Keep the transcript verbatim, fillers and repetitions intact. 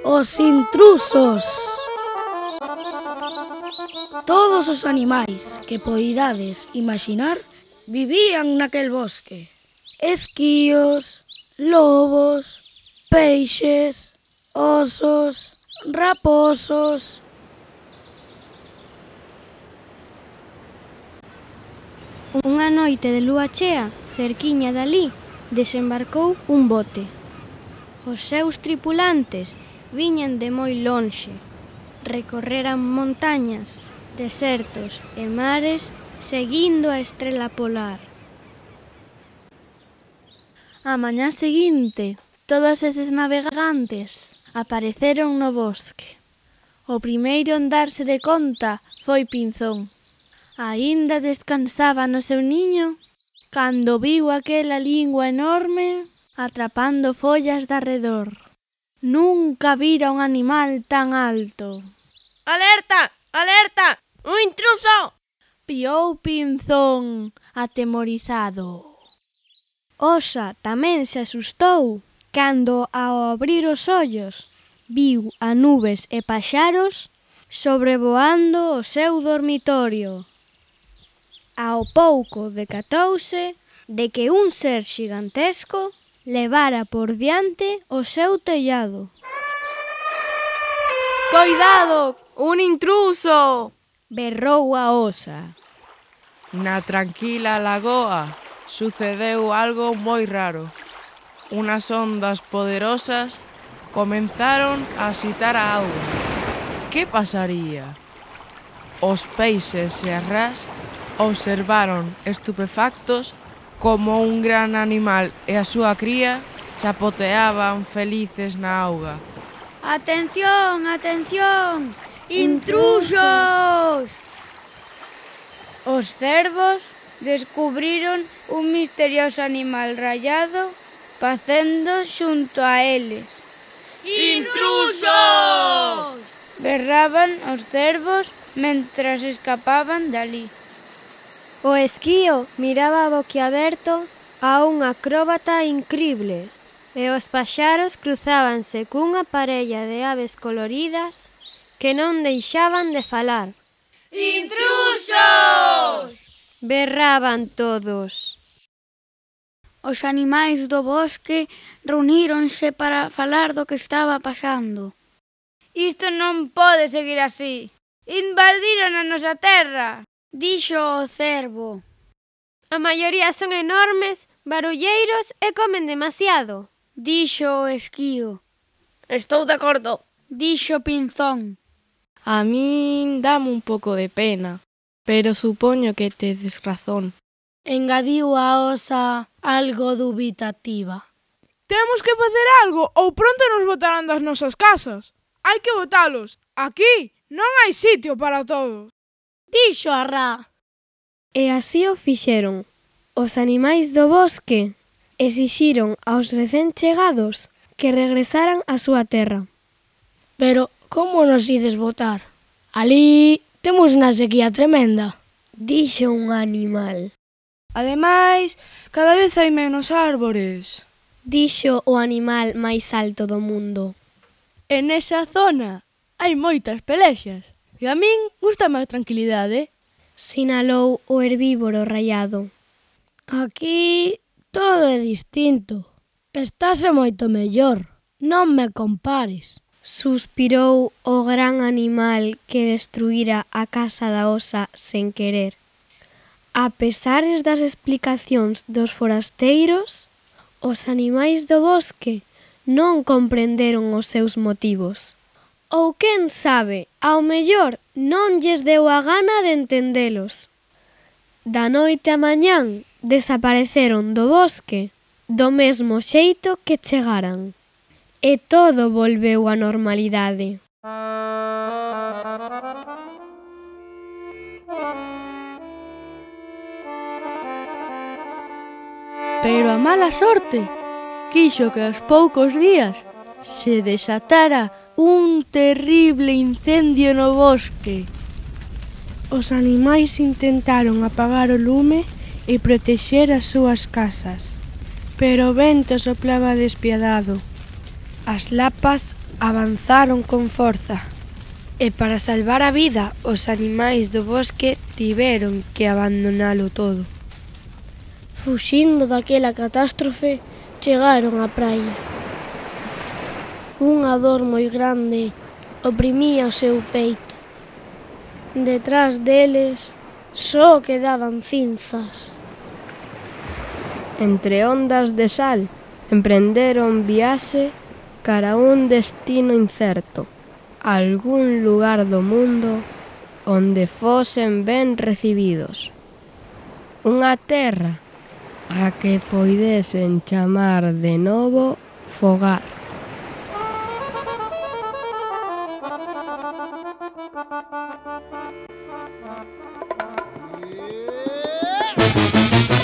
Os intrusos. Todos os animais que poidades imaginar vivían naquel bosque. Esquíos, lobos, peixes, osos, raposos. Unha noite de lúa chea, cerquiña dali, desembarcou un bote. Os seus tripulantes viñan de moi lonxe. Recorreran montañas, desertos e mares seguindo a estrela polar. A mañá seguinte, todos estes navegantes apareceron no bosque. O primeiro en darse de conta foi Pinzón. Aínda descansaba no seu niño cando viu aquela lingua enorme atrapando follas de arredor. Nunca vira un animal tan alto. Alerta! Alerta! ¡Un intruso! Piou Pinzón, atemorizado. Osa tamén se asustou cando, ao abrir os ollos, viu a nubes e paxaros sobrevoando o seu dormitorio. Ao pouco decatouse de que un ser xigantesco levara por diante o seu tellado. ¡Coidado! ¡Un intruso! Berrou a osa. Na tranquila lagoa sucedeu algo moi raro. Unas ondas poderosas comenzaron a axitar a auga. Que pasaría? Os peixes e as rás observaron estupefactos como un gran animal e a súa cría chapoteaban felices na auga. Atención, atención! Intrusos! Os cervos descubriron un misterioso animal rayado pacendo xunto a eles. Intrusos! Berraban os cervos mentras escapaban dali. O esquío miraba boquiaberto a un acróbata incrible e os paxaros cruzábanse cunha parella de aves coloridas que non deixaban de falar. Intrusos! Berraban todos. Os animais do bosque reuníronse para falar do que estaba pasando. Isto non pode seguir así. Invadiron a nosa terra, dixo o cervo. A maioría son enormes, barulleiros e comen demasiado, dixo o esquío. Estou de acordo, dixo Pinzón. A min dame un pouco de pena, pero supoño que tedes razón, engadiu a osa algo dubitativa. Temos que facer algo ou pronto nos botarán das nosas casas. Hai que botalos. Aquí non hai sitio para todos. Dixo a rá. E así o fixeron. Os animais do bosque exixiron aos recén chegados que regresaran á súa terra. Pero como nos ides botar? Ali temos unha sequía tremenda, dixo un animal. Ademais, cada vez hai menos árbores, dixo o animal máis alto do mundo. En esa zona hai moitas pelexas e a min gústame a tranquilidade, sinalou o herbívoro raiado. Aquí todo é distinto. Estase moito mellor, non me compares. Suspirou o gran animal que destruíra a casa da osa sen querer. A pesares das explicacións dos forasteiros, os animais do bosque non comprenderon os seus motivos. Ou quen sabe, ao mellor non lles deu a gana de entendelos. Da noite a mañán desapareceron do bosque do mesmo xeito que chegaran. E todo volveu á normalidade. Pero a mala sorte quixo que aos poucos días se desatara un terrible incendio no bosque. Os animais intentaron apagar o lume e protexer as súas casas, pero o vento soplaba despiadado. As lapas avanzaron con forza, e para salvar a vida os animais do bosque tiveron que abandonalo todo. Fuxindo daquela catástrofe, chegaron á praia. Unha dor moi grande oprimía o seu peito. Detrás deles só quedaban cinzas. Entre ondas de sal, emprenderon viaxe cara a un destino incerto, algún lugar do mundo onde fosen ben recibidos. Unha terra a que poidesen chamar de novo fogar. Yeah!